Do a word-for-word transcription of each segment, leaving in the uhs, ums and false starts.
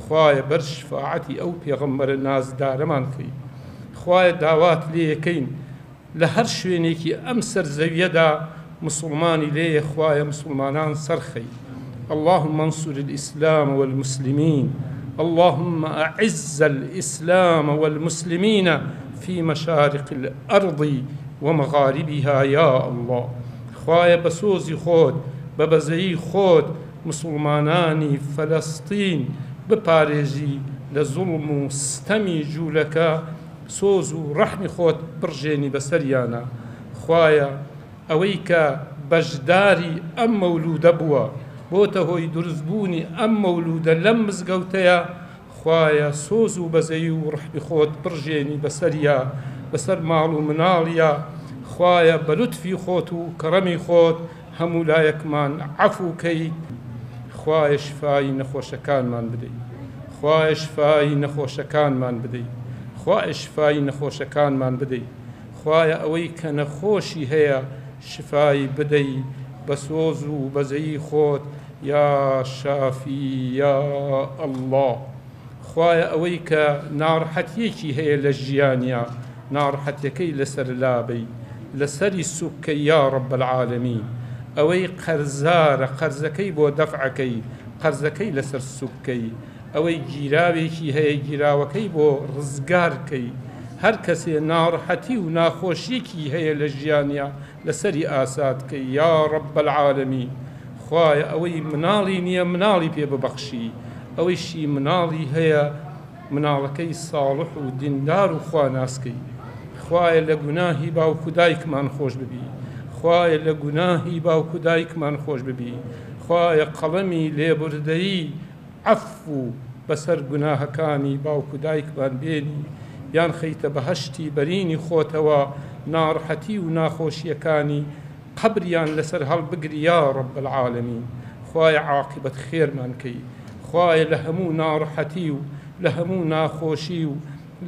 خوایە بەر شفاعەتی ئەو پێغەمبەرە نازدارەمان کەی. خوایە داوات لێیەکەین لە هەر شوێنێکی ئەم سەر زەویەدا مسلمانی لێیە، خوایە مسلمانان سەرخەی. اللهم انصر الإسلام والمسلمين، اللهم أعز الإسلام والمسلمين في مشارق الأرض ومغاربها يا الله. خوایە بە سۆزی خۆت بە بەزەیی خۆت مسلمانانی فەلەستین بپارێزی لە زوڵم و ستەمی جوولەکە، سۆز و ڕەحمی خۆت بڕژێنی بەسەریانە. خوایە ئەوەی کە بەشداری ئەم مەولوودە بووە بۆتە هۆی دروستبوونی ئەم مەولوودە لەم مزگەوتەیە، خوایە سۆز و بەزەیی و ڕەحمی خۆت بڕژێنی بەسەریا، بەسەر ماڵ و مناڵیا. خوایە بە لوتفی خۆت و کەڕەمی خۆت هەموو لایەکمان عەفو کەیت. خوایە شفای نەخۆشەکانمان بدەیت، خوایە شفای نەخۆشەکانمان بدەیت، خوایە شفای نەخۆشەکانمان بدەیت. خوایە ئەوەی کە نەخۆشی هەیە شفای بدەی بە سۆز و بەزەیی خۆت یا شافی یا ئەڵڵا. خوایە ئەوەی کە ناڕەحەتیەکی هەیە لە ژیانیا ناڕەحەتیەکەی لەسەر لابەی، لەسەری سوکەی یا رب العالمین. ئەوەی قەرزارە قەرزەکەی بۆ دەفعەکەی، قەرزەکەی لەسەر سوکەی. ئەوەی گیراوێکی هەیە گیراوەکەی بۆ ڕزگارکەی. هەر کەسێ ناڕەحەتی و ناخۆشیەکی هەیە لە ژیانیا لەسەری ئاسادکەی یا رب العالمین. خوایە ئەوەی مناڵی نییە مناڵی پێ ببەخشی، ئەوەیشی مناڵی هەیە مناڵەکەی ساڵح و دیندار و خواناسکەی. خوایە لە گوناهی باوک و دایکمان خۆش ببی، خوایە لە گوناهی باوک و دایکمان خۆش ببی. خوایە قەڵەمی لێبوردەیی عەفو بەسەر گوناهەکانی باوک و دایکمان بێنی، یان خەیتە بەهەشتی بەرینی خۆتەوە ناڕەحەتی و ناخۆشیەکانی قەبریان لەسەر هەڵبگری یا رب العالمین. خوایە عاقبەت خێرمان کەی، خوایە لە هەموو ناڕەحەتی و لە هەموو ناخۆشی و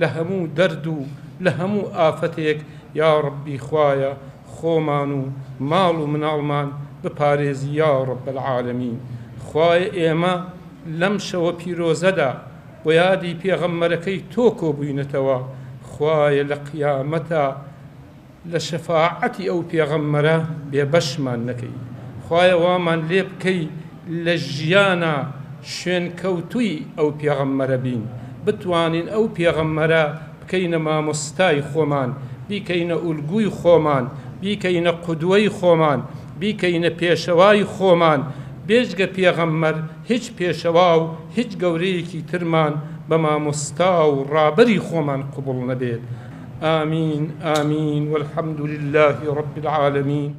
لە هەموو دەرد و لە هەموو ئافەتێک یا ربی خوایە خۆمان و ماڵ و مناڵمان بپارێزی یا رب العالمین. خوایە ئێمە لەم شەوە پیرۆزەدا بۆ یادی پێغەمبەرەکەی تۆ کۆبووینەتەوە، خوایە لە قیامەتە لە شەفاعەتی ئەو پێغەمبەرە بێبەشمان نەکەی. خوایە وامان لێ بکەی لە ژیانە شوێنکەوتووی ئەو پێغەمبەرە بین، بتوانین ئەو پێغەمبەرە بکەینە مامۆستای خۆمان، بیکەینە ئولگوی خۆمان، بیکەینە قودوەی خۆمان، بیکەینە پێشەوای خۆمان. بێجگە پێغەمبەر هیچ پێشەوا و هیچ گەورەیەکی ترمان بە مامۆستا و ڕابەری خۆمان قبوڵ نەبێت. آمین آمین والحمد لله رب العالمین.